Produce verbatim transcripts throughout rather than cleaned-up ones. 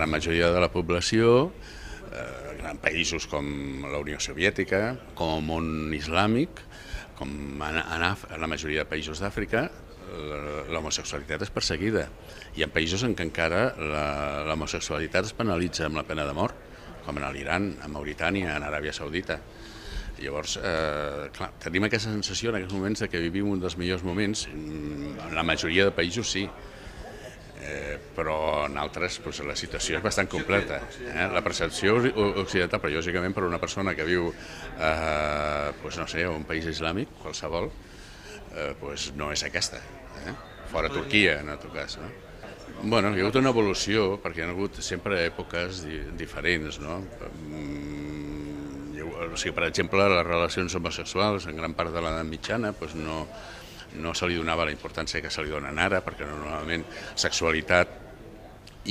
gran majoria de la població, en països com la Unió Soviètica, com el món islàmic, com en la majoria de països d'Àfrica, l'homosexualitat és perseguida. Hi ha països en què encara l'homosexualitat es penalitza amb la pena de mort, com en l'Iran, a Mauritània, en Aràbia Saudita. Llavors, clar, tenim aquesta sensació en aquests moments que vivim un dels millors moments. En la majoria de països sí, però en altres la situació és bastant completa. La percepció occidental, però lògicament per una persona que viu a un país islàmic, qualsevol, no és aquesta, fora Turquia en tot cas. Bueno, hi ha hagut una evolució perquè hi ha hagut sempre èpoques diferents. Per exemple, les relacions homosexuals en gran part de l'edat mitjana no se li donava la importància que se li donen ara, perquè normalment sexualitat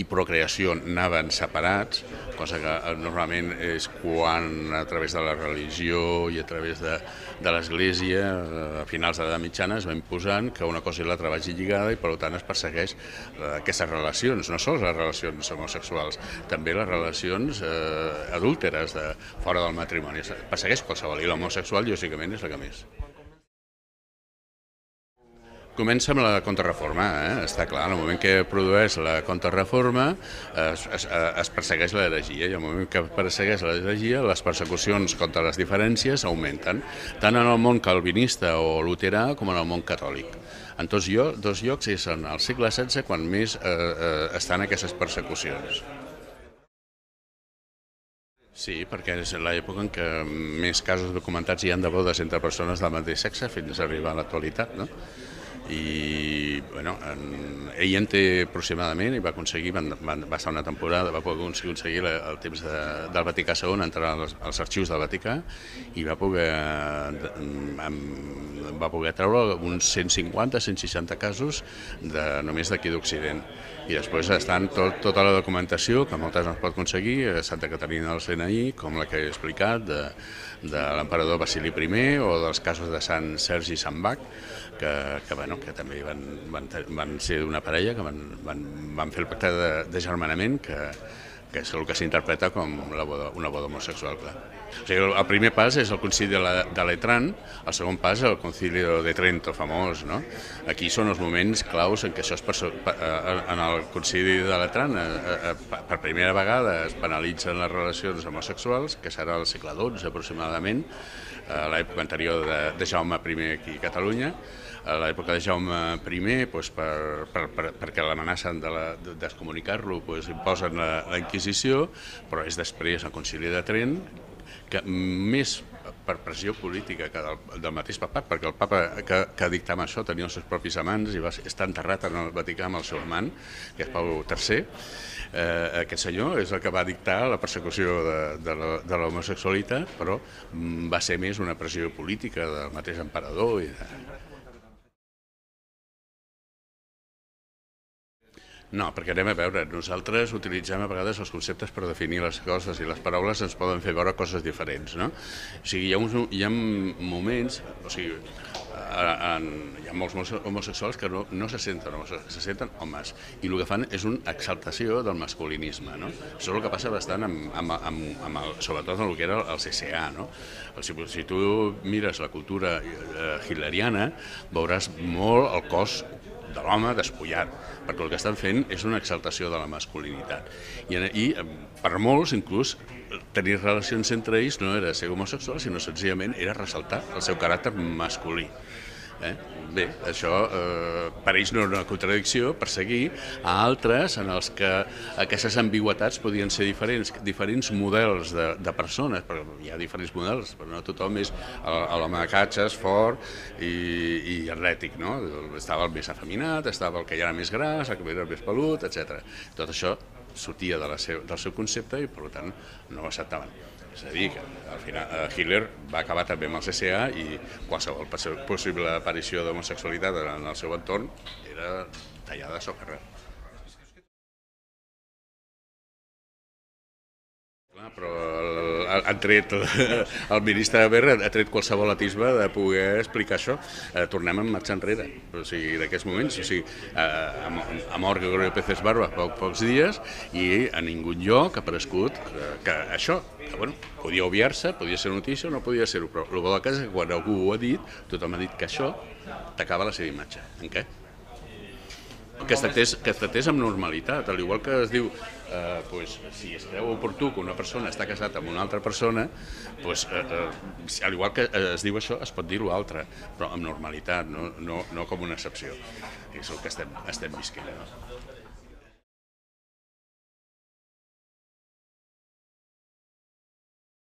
i procreació anaven separats, cosa que normalment és quan a través de la religió i a través de l'Església a finals de l'edat mitjana es va imposant que una cosa i l'altra vagi lligada i per tant es persegueix aquestes relacions, no sols les relacions homosexuals, també les relacions adúlteres fora del matrimoni. Persegueix qualsevol i l'homosexual lògicament és la que més. Comença amb la contrarreforma, està clar, en el moment que produeix la contrarreforma es persegueix l'heretgia i en el moment que persegueix l'heretgia les persecucions contra les diferències augmenten, tant en el món calvinista o luterà com en el món catòlic. En tots dos llocs és en el segle setze quan més estan aquestes persecucions. Sí, perquè és l'època en què més casos documentats hi ha de bodes entre persones del mateix sexe fins a arribar a l'actualitat, no? I ell en té aproximadament i va aconseguir, va estar una temporada, va poder aconseguir el temps del Vaticà segon, entrar als arxius del Vaticà i va poder treure uns cent cinquanta a cent seixanta casos només d'aquí d'Occident. I després estan tota la documentació, que moltes no es pot aconseguir, a Santa Caterina del Sinaí, com la que he explicat, de l'emperador Basili primer o dels casos de Sant Sergi i Sant Bac, que també van ser d'una parella, que van fer el pacte de germanament, que és el que s'interpreta com una boda homosexual. El primer pas és el concili de Letrán, el segon pas és el concili de Trento, famós. Aquí són els moments claus en què això es... En el concili de Letrán, per primera vegada es penalitzen les relacions homosexuals, que serà al segle dotze aproximadament, a l'època anterior de Jaume primer aquí a Catalunya. A l'època de Jaume primer, perquè l'amenacen d'excomunicar-lo, imposen la Inquisició, però és després el concili de Trent, que més per pressió política que del mateix papat, perquè el papa que dictava això tenia els seus propis amants i va estar enterrat en el Vaticà amb el seu amant, que és Pau tercer. Aquest senyor és el que va dictar la persecució de l'homosexualitat, però va ser més una pressió política del mateix emperador. No, perquè anem a veure, nosaltres utilitzem a vegades els conceptes per definir les coses i les paraules ens poden fer veure coses diferents, no? O sigui, hi ha moments, o sigui, hi ha molts homosexuals que no se senten homosexuals, se senten homes, i el que fan és una exaltació del masculinisme, no? Això és el que passa bastant, sobretot en el que era el C C A, no? Si tu mires la cultura hitleriana, veuràs molt el cos de l'home despullat, perquè el que estan fent és una exaltació de la masculinitat. I per molts, inclús, tenir relacions entre ells no era ser homosexual, sinó senzillament era ressaltar el seu caràcter masculí. Bé, això per ells no era una contradicció, per seguir a altres en els que aquestes ambigüetats podien ser diferents, diferents models de persones, perquè hi ha diferents models, però no tothom és l'home de catxes, fort i atlètic, no? Estava el més afeminat, estava el que ja era més gras, el que era més pelut, etcètera. Tot això sortia del seu concepte i per tant no ho acceptaven. És a dir, que al final Hitler va acabar també amb el C C A i qualsevol possible aparició d'homosexualitat en el seu entorn era tallada de socarrer. Però han tret, el ministre Berra ha tret qualsevol atisbe de poder explicar això. Eh, tornem a marxar enrere, o sigui, d'aquests moments, o sigui, eh, ha mort Gregorio Pérez Barba fa pocs dies i a ningú lloc ha aparegut que, que això, que, bueno, podia obviar-se, podia ser notícia o no podia ser-ho, però el bo del cas és que quan algú ho ha dit, tothom ha dit que això tacava la seva imatge. En què? Que es tractés, que es tractés amb normalitat, al igual que es diu, eh, pues, si es creu oportú que una persona està casada amb una altra persona, pues, eh, eh, al igual que es diu això, es pot dir l'altre, però amb normalitat, no, no, no com una excepció. És el que estem, estem visquent. No?